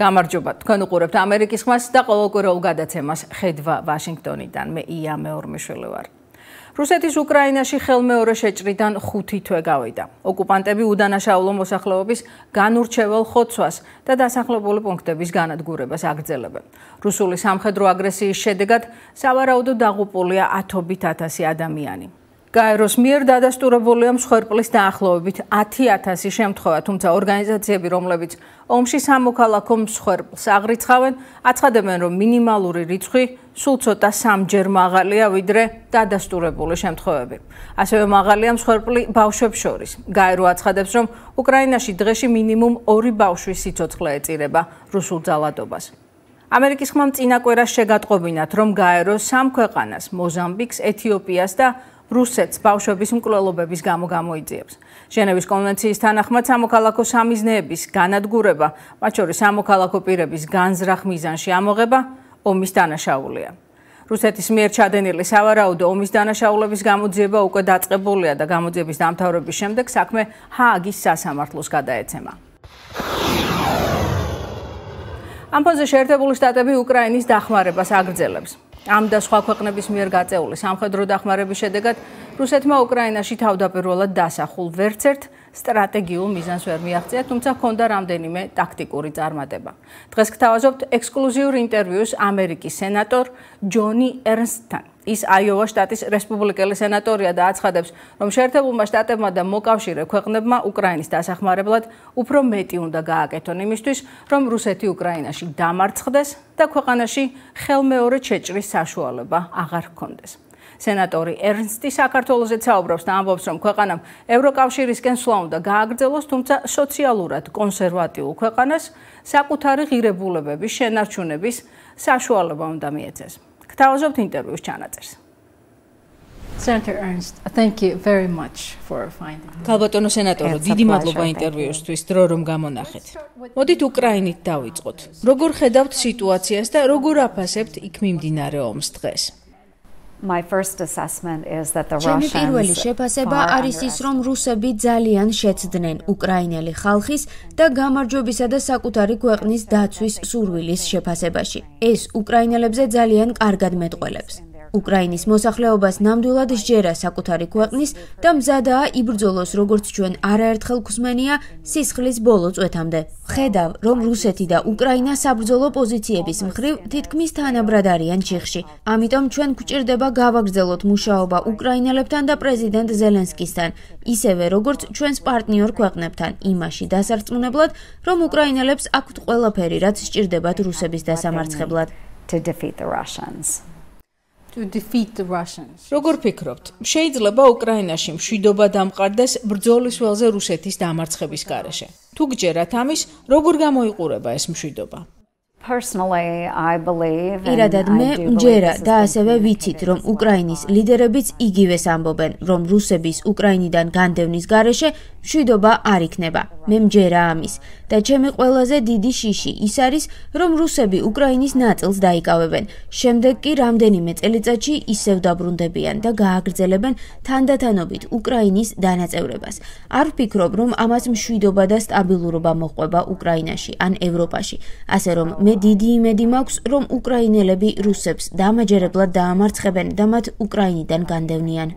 გამარჯობა, თქვენ უყურებთ ამერიკის ხმას და ყოველკვირეულ გადაცემას ხედვა ვაშინგტონიდან. მე ია მეორმიშვილი ვარ. რუსეთის უკრაინაში ხელმეორე შეჭრიდან 5 თვე გავიდა. ოკუპანტები უდანაშაულო მოსახლეობის განურჩევალ ხოცვას და დასახლებული პუნქტების განადგურებას აგრძელებენ. რუსული სამხედრო აგრესიის შედეგად სავარაუდოდ დაღუპულია 10,000 ადამიანი. გაეროს მიერ დადასტურებულია მსხვერპლის დაახლოებით 10,000 შემთხვევა, თუმცა ორგანიზაციები, რომლებიც ომში სამოქალაქო მსხვერპლს აღრიცხავენ, აცხადებენ, რომ მინიმალური რიცხვი სულ ცოტა 3-ჯერ მაღალია, ვიდრე დადასტურებული შემთხვევები. ასევე მაღალია მსხვერპლი ბავშვებს შორის. გაერო აცხადებს, რომ უკრაინაში დღეში მინიმუმ 2 ბავშვის სიცოცხლე ეწირება რუსულ ძალადობას. ამერიკის ხმამ წინა კვირას შეგატყობინათ, რომ გაერო 3 ქვეყანას, მოზამბიკს, ეთიოპიას და რუსეთს ბავშვების მკვლელობების გამო გამოიძიებს. ჟენევის კონვენციის თანახმად სამოქალაქო სამიზნეების განადგურება, მათ შორის სამოქალაქო პირების განზრახ მიზანში ამოღება, ომის დანაშაულია. რუსეთის მიერ ჩადენილი სავარაუდო ომის დანაშაულების გამოძიება უკვე დაწყებულია და გამოძიების დამთავრების შემდეგ საქმე ჰააგის სასამართლოს გადაეცემა. ამ ფონზე შეერთებული შტატები უკრაინის დახმარებას აგრძელებს. ამ და სხვა ქვეყნების მიერ გაწეული სამხედრო დახმარების შედეგად რუსეთმა უკრაინაში თავდაპირველად დასახულ ვერცერთ სტრატეგიულ მიზანს ვერ მიაღწია, თუმცა ჰქონდა რამდენიმე ტაქტიკური წარმატება. დღეს გთავაზობთ ექსკლუზიურ ინტერვიუს ამერიკის სენატორ ჯონი ერნსტთან. ის აიოვა შტატის რესპუბლიკელი სენატორია და აცხადებს, რომ შეერთებულმა შტატებმა და მოკავშირე ქვეყნებმა უკრაინის დასახმარებლად უფრო მეტი უნდა გააკეთონ იმისთვის, რომ რუსეთი უკრაინაში დამარცხდეს და ქვეყანაში ხელმეორე შეჭრის საშუალება აღარ ჰქონდეს. სენატორი ერნსტი საქართველოზე საუბრობს და ამბობს, რომ ქვეყანამ ევროკავშირისკენ სვლა უნდა გააგრძელოს, თუმცა სოციალურად კონსერვატიულ ქვეყანას საკუთარი ღირებულებების შენარჩუნების საშუალება უნდა მიეცეს. გთავაზობთ ინტერვიუს ჩანაწერს. Senator Ernst, thank you very much for finding. ქალბატონო სენატორო, დიდი მადლობა ინტერვიუსთვის, დრო რომ გამონახეთ. მოდით უკრაინით დავიწყოთ. როგორ ხედავთ სიტუაციას და როგორ აფასებთ იქ მიმდინარე ომს დღეს? My first assessment is that the ჩემი Russians პირველი შეფასება არის ის, რომ რუსები ძალიან შეცდნენ უკრაინელი ხალხის და გამარჯვებისა და საკუთარი ქვეყნის დაცვის სურვილის შეფასებაში. ეს უკრაინელებზე ძალიან კარგად მეტყველებს. უკრაინის მოსახლეობას ნამდვილად სჯერა საკუთარი ქვეყნის და მზადაა იბრძოლოს, როგორც ჩვენ არაერთხელ გვსმენია, სისხლის ბოლო წვეთამდე. ხედავ, რომ რუსეთი და უკრაინა საბრძოლო პოზიციების მხრივ თითქმის თანაბრად არიან ჩიხში. ამიტომ ჩვენ გვჭირდება გავაგრძელოთ მუშაობა უკრაინელებთან და პრეზიდენტ ზელენსკისთან, ისევე როგორც ჩვენს პარტნიორ ქვეყნებთან, იმაში დასარწმუნებლად, რომ უკრაინელებს აქვთ ყველაფერი, რაც სჭირდებათ რუსების დასამარცხებლად. to defeat the Russians. To defeat the Russians. როგორ ფიქრობთ, შეიძლება უკრაინაში მშვიდობა დამყარდეს ბრძოლის ველზე რუსეთის დამარცხების გარეშე? თუ გჯერათ ამის, როგორ გამოიყურება ეს მშვიდობა? Personally, I believe პირადად მე მჯერა და ასევე ვიცით, რომ უკრაინის ლიდერებიც იგივეს ამბობენ, რომ რუსების უკრაინიდან განდევნის გარეშე მშვიდობა არ იქნება. მე მჯერა ამის და ჩემი ყველაზე დიდი შიში ის არის, რომ რუსები უკრაინის ნაწილს დაიკავებენ. შემდეგ კი რამდენიმე წელიწადში ისევ დაბრუნდებიან და გააგრძელებენ თანდათანობით უკრაინის დანაწევრებას. არ ვფიქრობ, რომ ამას მშვიდობა და სტაბილურობა მოჰყვება უკრაინაში ან ევროპაში. ასე რომ მე დიდი იმედი მაქვს, რომ უკრაინელები რუსებს დამაჯერებლად დაამარცხებენ და მათ უკრაინიდან განდევნიან.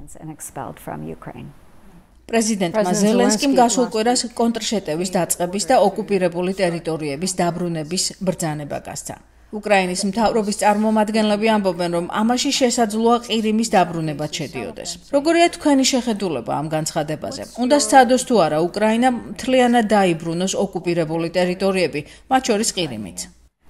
პრეზიდენტმა ზელენსკიმ გასულ კვირას კონტრშეტევის დაწყების და ოკუპირებული ტერიტორიების დაბრუნების ბრძანება გასცა. უკრაინის მთავრობის წარმომადგენლები ამბობენ, რომ ამაში შესაძლოა ყირიმის დაბრუნებაც შედიოდეს. როგორია თქვენი შეხედულება ამ განცხადებაზე? უნდა სცადოს თუ არა უკრაინა მთლიანად დაიბრუნოს ოკუპირებული ტერიტორიები, მათ შორის ყირიმიც?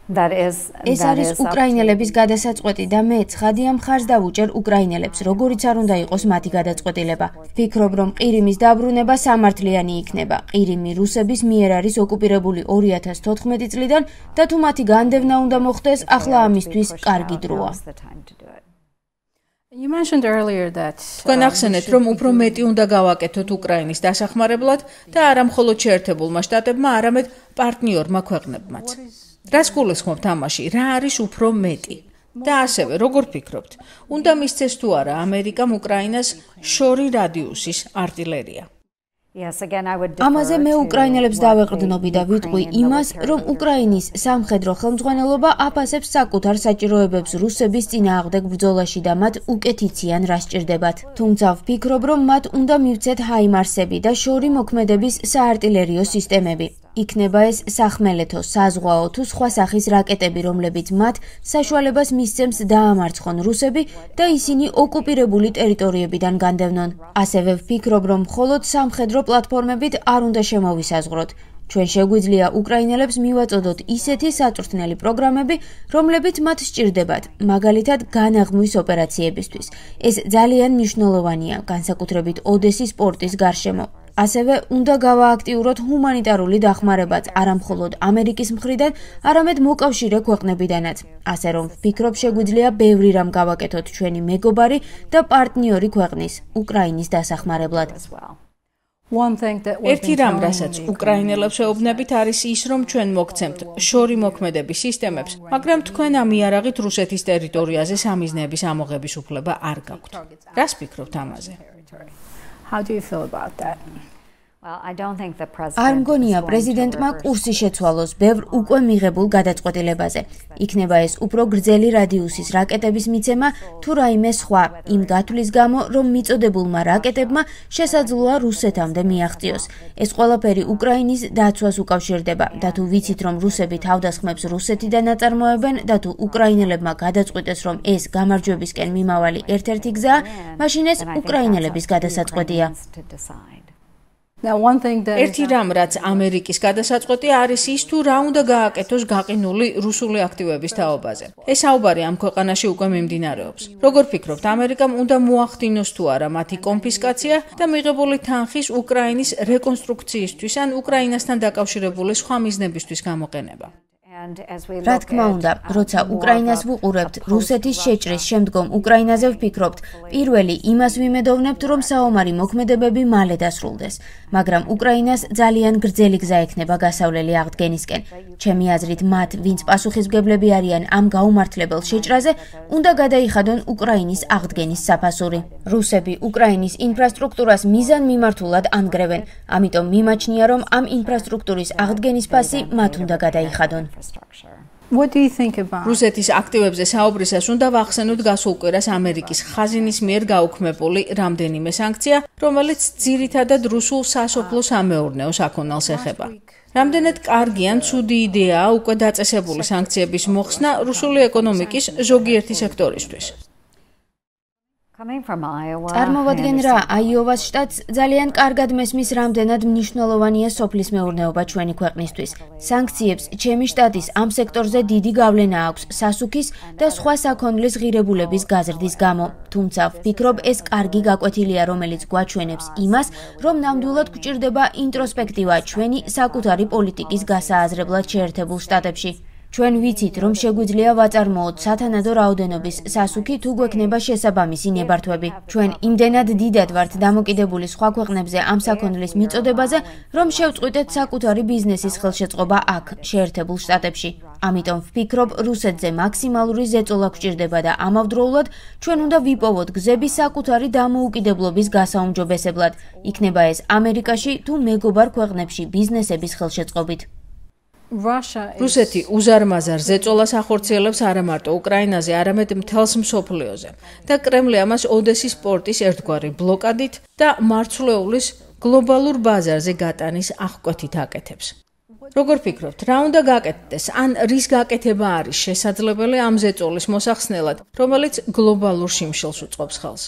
ეს არის უკრაინელების გადასაწყვეტი და მე ცხადია მხარს დავუჭერ უკრაინელებს, როგორიც არ უნდა იყოს მათი გადაწყვეტილება. ვფიქრობ, რომ ყირიმის დაბრუნება სამართლიანი იქნება. ყირიმი რუსების მიერ არის ოკუპირებული 2014 წლიდან და თუ მათი განდევნა უნდა მოხდეს, ახლა ამისთვის კარგი დროა. You mentioned earlier that თქვენ ახსენეთ, რომ უფრო მეტი უნდა გავაკეთოთ უკრაინის დასახმარებლად და არა მხოლოდ შეერთებულმა შტატებმა, არამედ პარტნიორმა ქვეყნებმაც. რას გულისხმობთ ამაში? რა არის უფრო მეტი? და ასევე, როგორ ფიქრობთ, უნდა მისცეს თუ არა ამერიკამ უკრაინას შორი რადიუსის артиллერია? ამაზე მე უკრაინელებს დავეყრდნობი და ვიტყვი იმას, რომ უკრაინის სამხედრო ხელმძღვანელობა აფასებს საკუთარ საჭიროებებს რუსების წინააღმდეგ ბრძოლაში და მათ უკეთიციან რა სჭირდებათ. თუმცა ვფიქრობ, რომ მათ უნდა მივცეთ ჰაიმარსები და შორი მოქმედების საარტილერიო სისტემები. იქნება ეს სახმელეთო, საზღვაო თუ სხვა სახის რაკეტები, რომლებიც მათ საშუალებას მისცემს დაამარცხონ რუსები და ისინი ოკუპირებული ტერიტორიებიდან განდევნონ. ასევე ვფიქრობ, რომ მხოლოდ სამხედრო პლატფორმებით არ უნდა შემოვისაზღვროთ. ჩვენ შეგვიძლია უკრაინელებს მივაწოდოთ ისეთი საწვრთნელი პროგრამები, რომლებიც მათ სჭირდებათ, მაგალითად განაღმვის ოპერაციებისთვის. ეს ძალიან მნიშვნელოვანია, განსაკუთრებით ოდესის პორტის გარშემო. ასევე უნდა გავააქტიუროთ ჰუმანიტარული დახმარებაც არა მხოლოდ ამერიკის მხრიდან, არამედ მოკავშირე ქვეყნებიდანაც. ასე რომ ვფიქრობ, შეგვიძლია ბევრი რამ გავაკეთოთ ჩვენი მეგობარი და პარტნიორი ქვეყნის, უკრაინის დასახმარებლად. ერთი რამ, რასაც უკრაინელებს ვეუბნებით, არის ის, რომ ჩვენ მოგცემთ შორი მოქმედების სისტემებს, მაგრამ თქვენ ამ იარაღით რუსეთის ტერიტორიაზე სამიზნეების ამოღების უფლება არ გაქვთ. რას ფიქრობთ ამაზე? How do you feel about that? არ მგონია პრეზიდენტმა კურსი შეცვალოს ბევრ უკვე მიღებულ გადაწყვეტილებაზე. იქნება ეს უფრო გრძელი რადიუსის რაკეტების მიცემა თუ რაიმე სხვა, იმ გათვლის გამო, რომ მიწოდებულმა რაკეტებმა შესაძლოა რუსეთამდე მიაღწიოს. ეს ყველაფერი უკრაინის დაცვას უკავშირდება და თუ ვიცით, რომ რუსები თავდასხმებს რუსეთიდან აწარმოებენ და თუ უკრაინელებმა გადაწყვიტეს, რომ ეს გამარჯვებისკენ მიმავალი ერთ-ერთი გზაა, მაშინ ეს უკრაინელების გადასაწყვეტია. ერთი რამ, რაც ამერიკის გადასაწყვეტია, არის ის, თუ რა უნდა გააკეთოს გაყინული რუსული აქტივების თაობაზე. ეს საუბარი ამ ქვეყანაში უკვე მიმდინარეობს. როგორ ფიქრობთ, ამერიკამ უნდა მოახდინოს თუ არა მათი კონფისკაცია და მიღებული თანხის უკრაინის რეკონსტრუქციისთვის ან უკრაინასთან დაკავშირებული სხვა მიზნებისთვის გამოყენება? რა თქმა უნდა, როცა უკრაინას ვუყურებთ, რუსეთის შეჭრის შემდგომ უკრაინაზე ვფიქრობთ, პირველი იმას ვიმედოვნებთ, რომ საომარი მოქმედებები მალე დასრულდეს, მაგრამ უკრაინას ძალიან გრძელი გზა ექნება გასავლელი აღდგენისკენ. ჩემი აზრით, მათ, ვინც პასუხისმგებლები არიან ამ გაუმართლებელ შეჭრაზე, უნდა გადაიხადონ უკრაინის აღდგენის საფასური. რუსები უკრაინის ინფრასტრუქტურას მიზანმიმართულად ანგრევენ, ამიტომ მიმაჩნია, რომ ამ ინფრასტრუქტურის აღდგენის ფასი მათ უნდა გადაიხადონ. What do you think about? რუსეთის აქტივებზე საუბრისას უნდა ვახსენოთ გასულ კვირას ამერიკის ხაზინის მიერ გაუქმებული რამდენიმე სანქცია, რომელიც ძირითადად რუსულ სასოფლო-სამეურნეო საქონელს ეხება. რამდენად კარგი ან ცუდი იდეაა უკვე დაწესებული სანქციების მოხსნა რუსული ეკონომიკის ზოგიერთი სექტორისთვის? წარმოვადგენ რა, აიოვას შტატს ძალიან კარგად მესმის რამდენად მნიშვნელოვანია სოფლის მეურნეობა ჩვენი ქვეყნისთვის. სანქციებს ჩემი შტატის ამ სექტორზე დიდი გავლენა აქვს სასუქის და სხვა საქონლის ღირებულების გაზრდის გამო. თუმცა ვფიქრობ, ეს კარგი გაკვეთილია, რომელიც გვაჩვენებს იმას, რომ ნამდვილად გვჭირდება ინტროსპექტივა ჩვენი საკუთარი პოლიტიკის გასააზრებლად შეერთებულ შტატებში. ჩვენ ვიცით, რომ შეგვიძლია ვაწარმოოთ სათანადო რაოდენობის სასუქი თუ გვექნება შესაბამისი ნებართვები. ჩვენ იმდენად დიდად ვართ დამოკიდებული სხვა ქვეყნებზე ამ საქონლის მიწოდებაზე, რომ შევწყვიტეთ საკუთარი ბიზნესის ხელშეწყობა აქ, შეერთებულ შტატებში. ამიტომ ვფიქრობ, რუსეთზე მაქსიმალური ზეწოლა გვჭირდება და ამავდროულად ჩვენ უნდა ვიპოვოთ გზები საკუთარი დამოუკიდებლობის გასაუმჯობესებლად. იქნება ეს ამერიკაში თუ მეგობარ ქვეყნებში ბიზნესების ხელშეწყობით. რუსეთი უზარმაზარ ზეწოლას ახორციელებს არა მარტო უკრაინაზე, არამედ მთელს მსოფლიოზე და კრემლი ამას ოდესის პორტის ერთგვარი ბლოკადით და მარცვლეულის გლობალურ ბაზარზე გატანის აღკვეთით აკეთებს. როგორ ფიქრობთ, რა უნდა გაკეთდეს, ან რის გაკეთება არის შესაძლებელი ამ ზეწოლის მოსახსნელად, რომელიც გლობალურ შიმშილს უწყობს ხელს?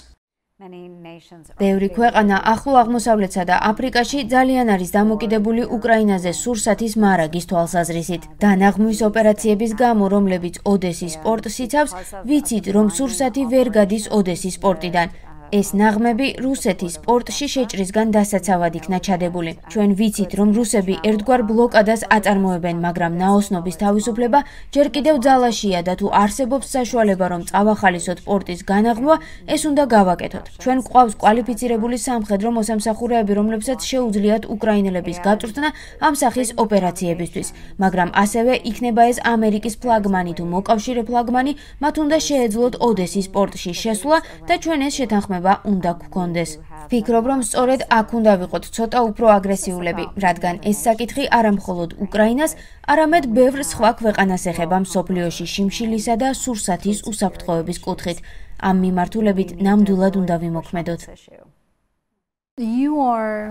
ბევრი ქვეყანა ახლო აღმოსავლეთსა და აფრიკაში ძალიან არის დამოკიდებული უკრაინაზე სურსათის მარაგის თვალსაზრისით. დანაღმვის ოპერაციების გამო, რომლებიც ოდესის პორტს იცავს, ვიცით, რომ სურსათი ვერ გადის ოდესის პორტიდან. ეს ნაღმები რუსეთის პორტში შეჭრისგან დასაცავად იქნა ჩადებული. ჩვენ ვიცით, რომ რუსები ერთგვარ ბლოკადას აწარმოებენ, მაგრამ ნაოსნობის თავისუფლება ჯერ კიდევ ძალაშია და თუ არსებობს საშუალება, რომ წავახალისოთ პორტის განაღმვა, ეს უნდა გავაკეთოთ. ჩვენ გვყავს კვალიფიცირებული სამხედრო მოსამსახურეები, რომლებსაც შეუძლიათ უკრაინელების გაწვრთნა ამ სახის ოპერაციებისთვის, მაგრამ ასევე იქნება ეს ამერიკის ფლაგმანი თუ მოკავშირე ფლაგმანი, მათ უნდა შეეძლოთ ოდესის პორტში შესვლა და ჩვენ ეს შეთანხმება დათანხმება უნდა გქონდეს. ვფიქრობ, რომ სწორედ აქ უნდა ვიყოთ ცოტა უფრო აგრესიულები, რადგან ეს საკითხი არა მხოლოდ უკრაინას, არამედ ბევრ სხვა ქვეყანას ეხება მსოფლიოში შიმშილისა და სურსათის უსაფრთხოების კუთხით. ამ მიმართულებით ნამდვილად უნდა ვიმოქმედოთ.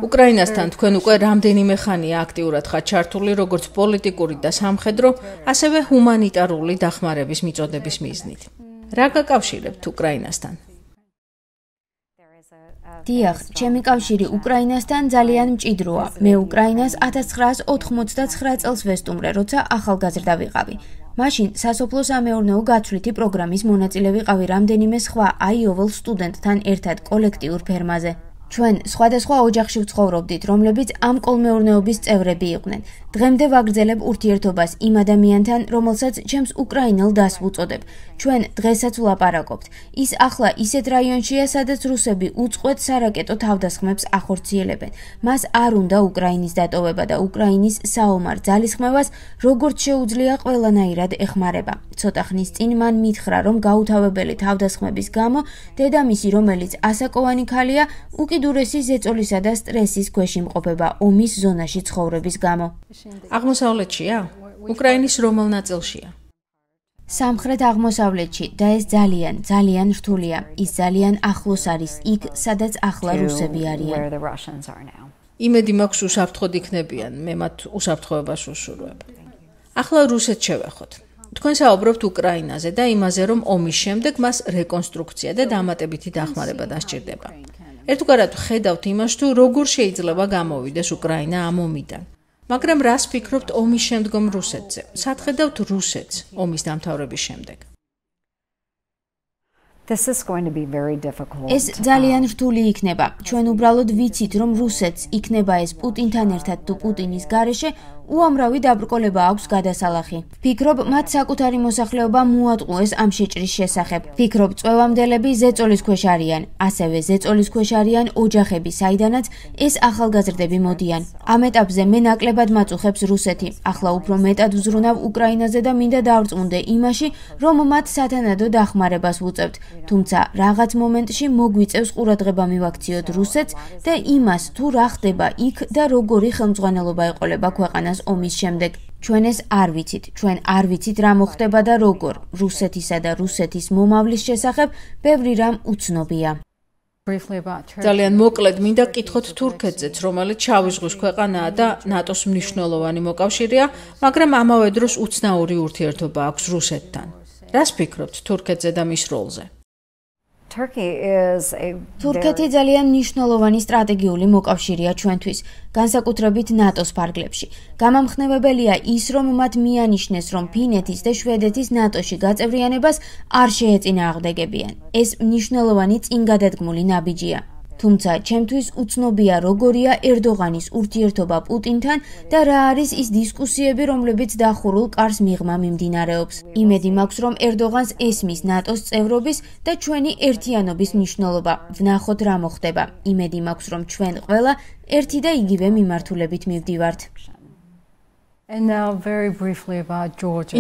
უკრაინასთან თქვენ უკვე რამდენიმე ხანია აქტიურად ხართ ჩართული როგორც პოლიტიკური და სამხედრო, ასევე ჰუმანიტარული დახმარების მიწოდების მიზნით. რა გაკავშირებთ უკრაინასთან? დიახ, ჩემი კავშირი უკრაინასთან ძალიან მჭიდროა. მე უკრაინას 1989 წელს ვესტუმრე, როცა ახალგაზრდა ვიყავი. მაშინ სასოფლო-სამეურნეო გაცვლითი პროგრამის მონაწილე ვიყავი რამდენიმე სხვა აიოვალ სტუდენტთან ერთად კოლექტიურ ფერმაზე. ჩვენ სხვადასხვა ოჯახში ვცხოვრობდით, რომლებიც ამ კოლმეურნეობის წევრები იყვნენ. დღემდე ვაგრძელებ ურთიერთობას იმ ადამიანთან, რომელსაც ჩემს უკრაინელ დასს ვუწოდებ. ჩვენ დღესაც ვლაპარაკობთ. ის ახლა ისეთ რაიონშია, სადაც რუსები უწყვეტ სარაკეტო თავდასხმებს ახორციელებენ. მას არ უნდა უკრაინის დატოვება და უკრაინის საომარ ძალისხმევას როგორც შეუძლია ყველანაირად ეხმარება. ცოტა ხნის წინ მან მითხრა, რომ გაუთავებელი თავდასხმების გამო დედამისი, რომელიც ასაკოვანი ქალია, უკიდურესი ზეწოლისა და სტრესის ქვეშ იმყოფება ომის ზონაში ცხოვრების გამო. აღმოსავლეთშია? უკრაინის რომელ ნაწილშია? სამხრეთ აღმოსავლეთში და ეს ძალიან რთულია. ის ძალიან ახლოს არის იქ, სადაც ახლა რუსები არიან. იმედი მაქვს უსაფრთხოდ იქნებიან, მე მათ უსაფრთხოებას უსურვებ. ახლა რუსეთს შევეხოთ. თქვენ საუბრობთ უკრაინაზე და იმაზე, რომ ომის შემდეგ მას რეკონსტრუქცია და დამატებითი დახმარება დასჭირდება. ერთგვარად ხედავთ იმას, თუ როგორ შეიძლება გამოვიდეს უკრაინა ამ ომიდან. მაგრამ რას ფიქრობთ ომის შემდგომ რუსეთზე? სად ხედავთ რუსეთს ომის დამთავრების შემდეგ? ეს ძალიან რთული იქნება. ჩვენ უბრალოდ ვიცით, რომ რუსეთს იქნება ეს პუტინთან ერთად თუ პუტინის გარეშე, უამრავი დაბრკოლება აქვს გადასალახი. ფიქრობ, მათ საკუთარი მოსახლეობა მოატყუეს ამ შეჭრის შესახებ. ფიქრობ, წვევამდელები ზეწოლის ქვეშ არიან, ასევე ზეწოლის ქვეშ არიან ოჯახები, საიდანაც ეს ახალგაზრდები მოდიან. ამ ეტაპზე მე ნაკლებად მაწუხებს რუსეთი. ახლა უფრო მეტად ვზრუნავ უკრაინაზე და მინდა დავწუნდე იმაში, რომ მათ სათანადო დახმარებას ვუწევთ. თუმცა რაღაც მომენტში მოგვიწევს ყურადღება მივაქციოთ რუსეთს და იმას, თუ რა ხდება იქ და როგორი ხელმძღვანელობა ეყოლება ქვეყანას ომის შემდეგ. ჩვენ ეს არ ვიცით. ჩვენ არ ვიცით რა მოხდება და როგორ. რუსეთისა და რუსეთის მომავლის შესახებ ბევრი რამ უცნობია. ძალიან მოკლედ მინდა გკითხოთ თურქეთზეც, რომელიც შავი ზღვის ქვეყანაა და ნატოს მნიშვნელოვანი მოკავშირეა, მაგრამ ამავე დროს უცნაური ურთიერთობა აქვს რუსეთთან. რას ფიქრობთ თურქეთზე და მის როლზე? თურქეთი ძალიან მნიშვნელოვანი სტრატეგიული მოკავშირეა ჩვენთვის, განსაკუთრებით ნატოს ფარგლებში. გამამხნევებელია ის, რომ მათ მიანიშნეს, რომ ფინეთის და შვედეთის ნატოში გაწევრიანებას არ შეეწინააღმდეგებიან. ეს მნიშვნელოვანი წინგადადგმული ნაბიჯია. თუმცა ჩემთვის უცნობია, როგორია ერდოღანის ურთიერთობა პუტინთან და რა არის ის დისკუსიები, რომლებიც დახურულ კარს მიღმა მიმდინარეობს. იმედი მაქვს, რომ ერდოღანს ესმის ნატოს წევრობის და ჩვენი ერთიანობის მნიშვნელობა. ვნახოთ რა მოხდება. იმედი მაქვს, რომ ჩვენ ყველა ერთი და იგივე მიმართულებით მივდივართ.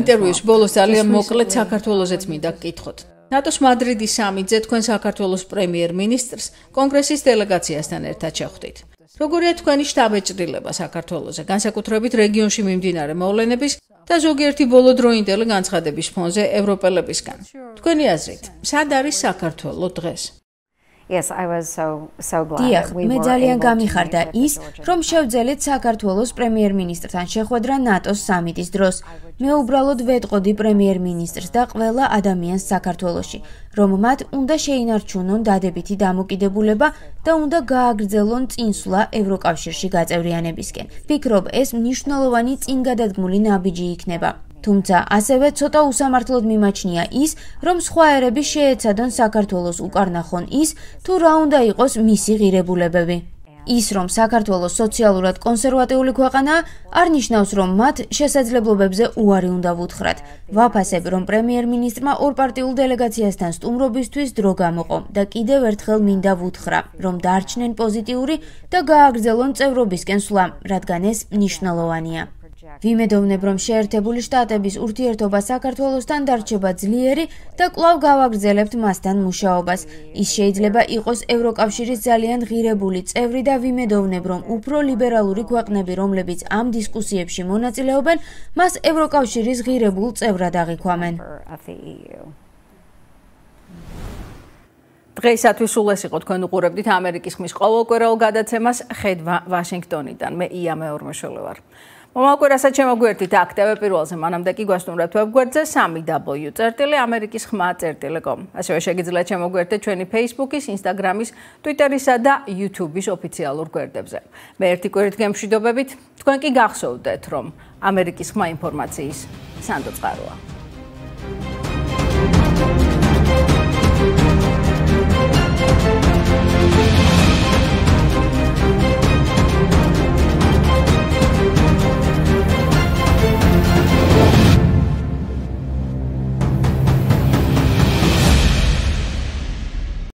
ინტერვიუს ბოლოს ძალიან მოკლედ საქართველოსაც მინდა გკითხოთ. ნატოს მადრიდის სამიტზე თქვენ საქართველოს პრემიერ-მინისტრს კონგრესის დელეგაციასთან ერთად შეხვდით. როგორია თქვენი შტაბ-ეჭრილება საქართველოზე, განსაკუთრებით რეგიონში მიმდინარე მოვლენების და ზოგიერთი ბოლოდროინდელი განცხადების ფონზე ევროპელებისგან? თქვენი აზრით, სად არის საქართველო დღეს? დიახ, მე ძალიან გამიხარდა ის, რომ შევძელეთ საქართველოს პრემიერ-მინისტრთან შეხვედრა ნატოს სამიტის დროს. მე უბრალოდ ვეტყოდი პრემიერ-მინისტრს და ყველა ადამიანს საქართველოში, რომ მათ უნდა შეინარჩუნონ დადებითი დამოკიდებულება და უნდა გააგრძელონ წინსვლა ევროკავშირში გაწევრიანებისკენ. ვფიქრობ, ეს მნიშვნელოვანი წინგადადგმული ნაბიჯი იქნება. თუმცა ასევე ცოტა უსამართლოდ მიმაჩნია ის, რომ სხვა ერები შეეცადონ საქართველოს უკარნახონ ის, თუ რა უნდა იყოს მისი ღირებულებები. ის, რომ საქართველოს სოციალურად კონსერვატიული ქვეყანაა, არ ნიშნავს, რომ მათ შესაძლებლობებზე უარი უნდა ვუთხრათ. ვაფასებ, რომ პრემიერ-მინისტრმა ორპარტიულ დელეგაციასთან სტუმრობისთვის დრო გამოყო და კიდევ ერთხელ მინდა ვუთხრა, რომ დარჩნენ პოზიტიური და გააგრძელონ წევრობისკენ სვლა, რადგან ეს მნიშვნელოვანია. ვიმედოვნებ, რომ შეერთებული შტატების ურთიერთობა საქართველოსთან დარჩება ძლიერი და კვლავ გავაგრძელებთ მასთან მუშაობას. ის შეიძლება იყოს ევროკავშირის ძალიან ღირებული წევრი და ვიმედოვნებ, რომ უფრო ლიბერალური ქვეყნები, რომლებიც ამ დისკუსიებში მონაწილეობენ, მას ევროკავშირის ღირებულ წევრად აღიქვამენ. დღეისათვის სულ ეს იყო, თქვენ უყურებდით ამერიკის ხმის ყოველკვირეულ გადაცემას ხედვა ვაშინგტონიდან. მე ია მეორმეშვილი ვარ. მომავალ კვირასაც შემოგვიერთდით აქ TV პირველზე, მანამდე კი გვასტუმრებთ ვებგვერდზე 3w.com. ასევე შეგიძლიათ შემოგვიერთდეთ ჩვენი Facebook-ის, Instagram-ის, Twitter-ისა და YouTube-ის ოფიციალურ გვერდებზე. მე ერთი კვირით გემშვიდობებით, თქვენ კი გახსოვდეთ, რომ ამერიკის ხმა ინფორმაციის სანდო წყაროა.